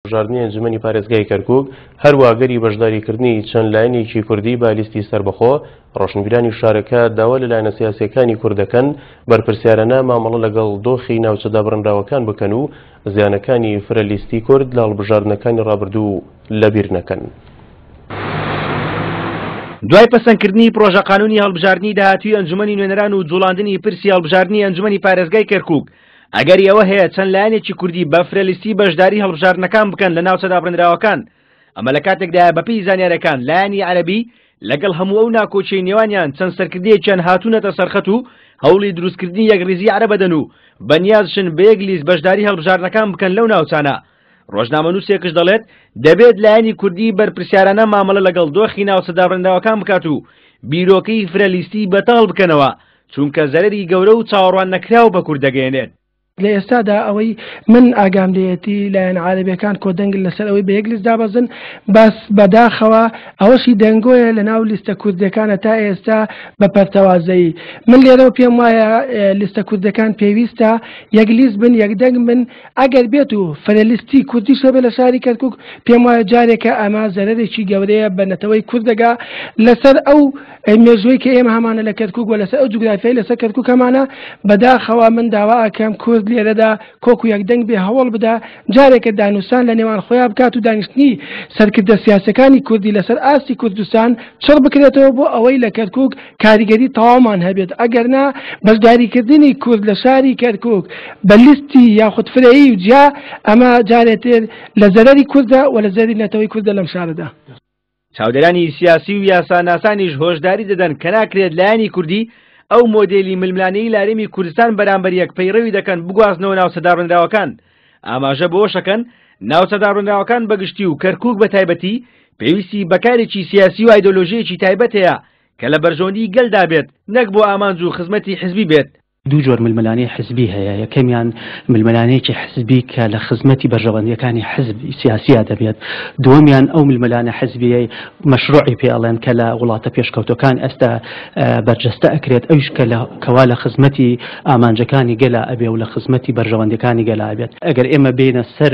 هەڵبژاردنی ئەنجومەنی پارێزگای کەرکوک، هەروا ئەگەری بەشداریکردنی چەند لایەنێکی کوردی بە لیستی سەربەخۆ، ڕۆشنبیرانی شارەکە داوا لە لایەنە سیاسییەکانی کورد دەکەن بەرپرسیارانە مامەڵە لەگەڵ دۆخی ناوچە دابڕێنراوەکان بکەن و زیانەکانی فرە لیستی کورد لە هەڵبژاردنەکانی ڕابردوو لەبیر نەکەن. دوای پەسەندکردنی پڕۆژە قانونی هەڵبژاردنی داهاتووی ئەنجومەنی نوێنەران و جوڵاندنی پرسی هەڵبژاردنی ئەنجومەنی پارێزگای کەرکوک، ئەگەری ئەوە هەیە چەند لایەنێکی کوردی بە فرەلیستی بەشداری هەڵبژاردنەکان بکەن لە ناوچە دابڕێنراوەکان. ئەمە لە کاتێکدایە بەپێی زانیارەکان لایەنی عەرەبی لەگەڵ هەموو ئەو ناکۆکیەی نێوانیان چەند سەرکردەیەکیان هاتوونەتە سەرخەت و هەوڵی دروستکردنی یەکڕیزی عەرەب ئەدەن و بەنیازشن بە یەک لیست بەشداری هەڵبژاردنەکان بکەن لەو ناوچانە. ڕۆژنامەنووسێکش دەڵێت دەبێت لایەنی کوردی بەرپرسیارانە مامەڵە لەگەڵ دۆخی ناوچە دابڕێنراوەکان بکات و بیرۆکەی فرەلیستی بەتاڵ بکەنەوە چونکە زەرەری گەورە و چاوەڕوان نەکراو بە کورد دەگەیەنێت. لە ئێستادا ئەوەی من ئاگام لێیەتی لایەنە عارەبیەکان کۆدەنگن لەسەر ئەوەی بە یەک لیست دابەزن، بەس بەداخەوە ئەوەشی دەنگۆیە لەناو لیستە کوردیەکانە تا ئێستا بە پەرتەوازەیی. من لێرەوە پێم وایە لیستە کوردیەکان پێویستە یەک لیست بن، یەک دەنگ بن، ئەگەر بێت و فرە لیستی کوردیش هەبێت لە شاری کەرکوک پێم وایە جارێکە ئەمە زەرەرێکی گەورەیە بە نەتەوەی کورد دەگا لەسەر ئەو مێژووی کە ئێمە هەمانە لە کەرکوک و لەسەر ئەو جوگرافیای لەسەر کەرکوک هەمانە. بەداخەوە من داوا ئەکەم کورد لێرەدا کۆک و یەکدەنگ بێ، هەوڵ بدا جارێکە دانوسان لە نێوان خۆیان بکات و دانیشتنی سەرکردە سیاسەکانی کوردی لەسەر ئاستی کوردستان چڕ بکرێتەوە بۆ ئەوەی لە کەرکوک کاریگەری تەواومان هەبێت، ئەگەرنا بەشداریکردنی کورد لە شاری کەرکوک بە لیستی یاخود فرەیی و جیا ئەمە جارێتر لە زەرەری کوردە و لە زەرەری نەتەوەی کوردە لەم شارەدا. چاودێرانی سیاسی و یاساناسانیش هۆشداری دەدەن کە ناکرێت لایەنی کوردی ئەو مۆدێلی ململانێی لە هەرێمی کوردستان بەرامبەر یەک پەیڕەوی دەکەن بگوازنەوە ناوچە دابڕێنراوەکان. ئاماژە بەوەشەکەن ناوچە دابڕێنراوەکان بەگشتی و کەرکوک بە تایبەتی پێویستی بە کارێکی سیاسی و ئایدۆلۆژییەکی تایبەت هەیە کە لە بەرژەوەندی گەلدا بێت نەک بۆ ئامانج و خزمەتی حزبی بێت. دوو جۆر ململانێی حزبی هەیە، یەکەمیان ململانێیەکی حزبی کە لە خزمەتی بەرژەوەندییەکانی حزب سیاسییا دەبێت، دووەمیان ئەو ململانێ حزبییەی مەشروعی پێ ئەڵێن کە لە وڵاتە پێشکەوتووەکان ئێستا بەرجەستە ئەکرێت، ئەویش کە لە کەوا لە خزمەتی ئامانجەکانی گەلا ئەبێ و لە خزمەتی بەرژەوەندییەکانی گەلا ئەبێت. ئەگەر ئێمە بێینە سەر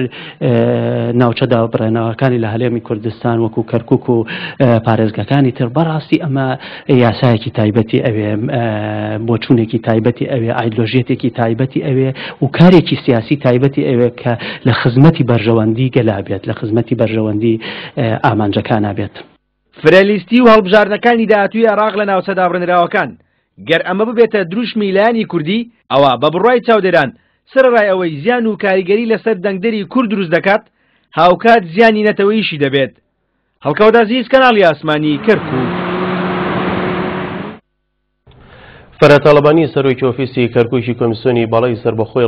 ناوچە دابڕێنەوەکانی لە هەرێمی کوردستان وەکو کەرکوک و پارێزگاکانی تر، بەڕاستی ئەمە یاسایەکی تایبەتی ئەوێ، بۆچوونێکی تایبەتی ئەوێ، ئایدلۆژیەتێکی تایبەتی ئەوێ و کارێکی سیاسی تایبەتی ئەوێ کە لە خزمەتی بەرژەوەندی گەلا بێت، لە خزمەتی بەرژەوەندی ئامانجەکانا بێت. فرەلیستی و هەڵبژاردنەکانی داهاتووی عێراق لە ناوچە دابڕێنراوەکان، گەر ئەمە ببێتە دروشمی لایەنی کوردی، ئەوا بە بڕوای چاودێران، سەرەڕای ئەوەی زیان و کاریگەری لەسەر دەنگدەری کورد دروست دەکات، هاوکات زیانی نەتەوەییشی دەبێت. هەڵکەوت عەزیز، کەناڵی ئاسمانی کەرکوک. فەرهاد تاڵەبانی سەرۆکی ئۆفیسی کەرکوکی کۆمیسیۆنی باڵای سەربەخۆی.